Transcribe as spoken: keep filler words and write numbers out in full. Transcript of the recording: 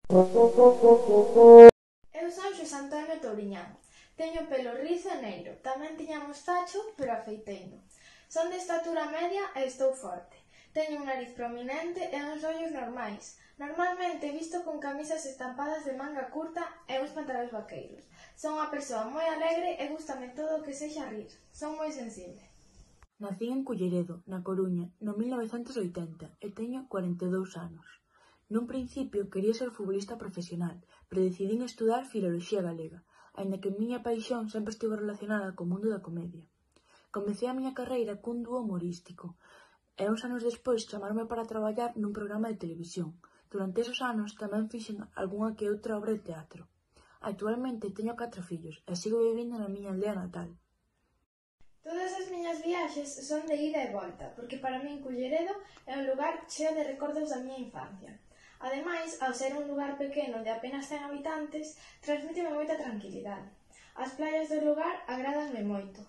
Eu son Xosé Antonio Touriñán. Teño pelo rizo e negro. Tamén tiña mostacho, pero afeiteino. Son de estatura media e estou forte. Teño un nariz prominente e uns ollos normais. Normalmente visto con camisas estampadas de manga curta e uns pantalóns vaqueiros. Son unha persoa moi alegre e gústame todo o que sexa rir. Son moi sensible. Nacín en Culleredo, na Coruña, no mil novecentos e oitenta e teño cuarenta e dous anos. Nun principio quería ser futbolista profesional, pero decidín estudar Filoloxía Galega, aínda que a miña paixón sempre estivo relacionada co mundo da comedia. Comecei a miña carreira cun dúo humorístico, e uns anos despois chamaronme para traballar nun programa de televisión. Durante esos anos tamén fixen algunha que outra obra de teatro. Actualmente teño catro fillos e sigo vivindo na miña aldea natal. Todas as miñas viaxes son de ida e volta, porque para min Culleredo é un lugar cheo de recordos da miña infancia. Ademais, ao ser un lugar pequeno de apenas cen habitantes, transmíteme moita tranquilidade. As playas do lugar agrádanme moito.